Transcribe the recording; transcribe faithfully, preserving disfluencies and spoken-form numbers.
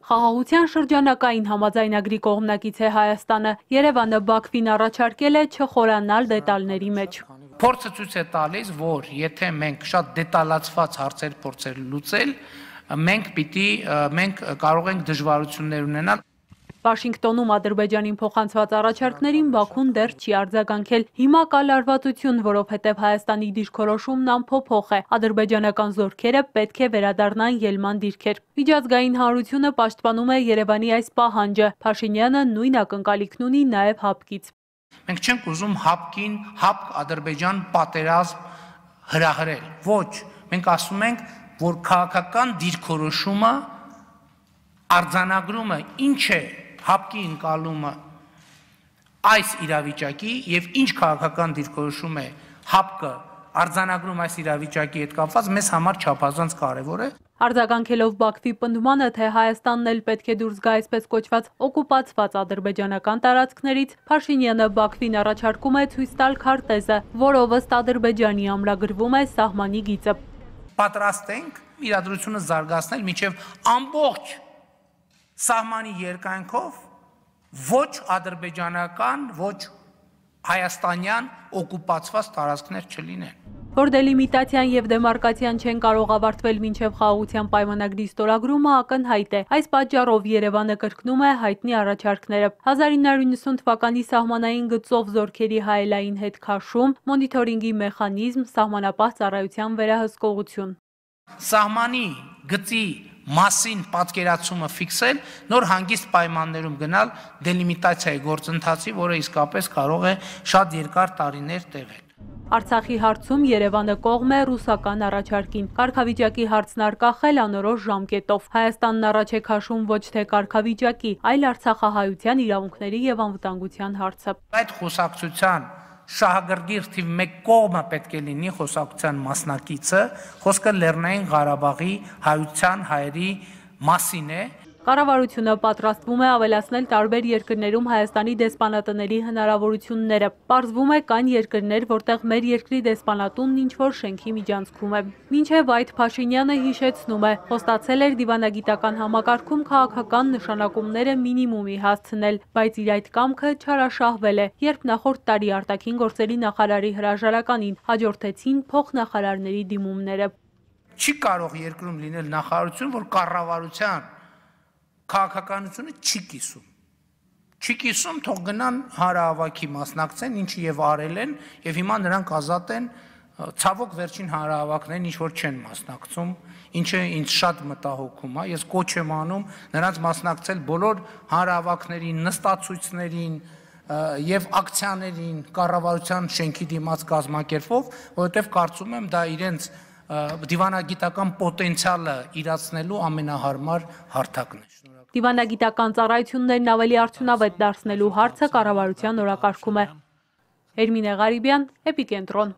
Խաղաղության շրջանակային համաձայնագրի կողմնակից է Հայաստանը, Երևանը Բաքվին առաջարկել է չխորանալ դետալների մեջ։ Փորձը ցույց է տալիս, որ եթե մենք շատ դետալացված հարցեր փորձեր լուծել, մենք պիտի մենք կարող ենք դժվարություններ ունենալ։ Վաշինգտոնում Ադրբեջանին փոխանցված առաջարկներին Բաքուն դեռ չի արձագանքել։ Հիմա կա լարվածություն, որովհետև Հայաստանի դիրքորոշումն անփոփոխ է։ Ադրբեջանական զորքերը պետք է վերադառնան ելման դիրքեր։ Միջազգային հանրությունը պաշտպանում է Երևանի այս պահանջը։ Փաշինյանը նույն ակնկալիքն ունի նաև ՀԱՊԿ-ից։ Մենք չենք ուզում ՀԱՊԿ-ին ՀԱՊԿ-Ադրբեջան պատերազմ հրահրել։ Ոչ, մենք ասում ենք, որ քաղաքական դիրքորոշումը արձանագրումը ինչ է ՀԱՊԿ-ի ընկալումը այս իրավիճակի եւ ինչ քաղաքական դիրքորոշում է ՀԱՊԿ-ը արձանագրում այս իրավիճակի հետ կապված մեզ համար չափազանց կարեւոր է։ Արձագանքելով Բաքվի պնդմանը, թե Հայաստանն էլ պետք է դուրս գա այսպես կոչված օկուպացված ադրբեջանական տարածքներից, Փաշինյանը Բաքվին առաջարկում է ցույց տալ քարտեզը, որով ըստ Ադրբեջանի ամրագրվում է սահմանի գիծը։ Պատրաստ ենք իրադրությունը զարգացնել մինչև ամբողջ սահմանի երկայնքով ոչ ադրբեջանական, ոչ հայաստանյան օկուպացված տարածքներ չլինեն։ Որ դելիմիտացիան եւ դեմարկացիան չեն կարող ավարտվել մինչև խաղաղության պայմանագրի ստորագրումը ակնհայտ է։ Այս պատճառով Երևանը կրկնում է հայտնի առաջարկները։ հազար ինը հարյուր նվաթ թվականի սահմանային գծով զորքերի հայելային հետ քաշում, մոնիթորինգի մեխանիզմ, սահմանապահ ծառայության վերահսկողություն։ Սահմանի գծի մասին պատկերացումը ֆիքսել, նոր հանգիստ պայմաններում գնալ դելիմիտացիայի գործընթացի, որը իսկապես կարող է շատ երկար տարիներ տևել։ Արցախի հարցում Երևանը կողմ է ռուսական առաջարկին։ Կարգավիճակի հարցն արկախել անորոշ ժամկետով։ Հայաստանն առաջ է քաշում ոչ թե կարգավիճակի, այլ արցախահայության իրավունքների եւ անվտանգության հարցը։ Այդ խոսակցության շահագրգիռ թիվ մեկ կողմը պետք է լինի խոսակցության մասնակիցը, խոսքը Լեռնային Ղարաբաղի հայության հայերի մասին է։ Կառավարությունը պատրաստվում է ավելացնել տարբեր երկրներում Հայաստանի դեսպանատների հնարավորությունները։ Պարզվում է կան երկրներ, որտեղ մեր երկրի դեսպանատունն ինչ-որ շենքի միջանցքում է։ Մինչև այդ Փաշինյանը հիշեցնում է, խոստացել էր դիվանագիտական համակարգում քաղաքական նշանակումները մինիմումի հասցնել, բայց իր այդ կամքը չարաշահվել է, երբ նախորդ տարի արտաքին գործերի նախարարի հրաժարականին հաջորդեցին փոխնախարարների դիմումները։ Չի կարող երկրում լինել նախարարություն, որ կառավարության քաղաքականությունը չի կիսում։ Չի կիսում, թող գնան հանրահավաքի մասնակցեն, ինչը եւ արել են, եւ հիմա նրանք ազատ են, ցավոք վերջին հանրահավաքներին ինչ որ չեն մասնակցում, ինչը ինձ շատ մտահոգում է։ Ես կոչ եմ անում նրանց մասնակցել բոլոր հանրահավաքներին, նստացույցներին եւ ակցիաներին կառավարության շենքի դիմաց կազմակերպով, որովհետեւ կարծում եմ դա իրենց դիվանագիտական պոտենցիալը իրացնելու ամենահարմար հարթակն է։ Դիվանագիտական ծառայություններն ավելի արդյունավետ դարձնելու հարցը կառավարության օրակարգում է։ Էրմինե Ղարիբյան, Էպիկենտրոն։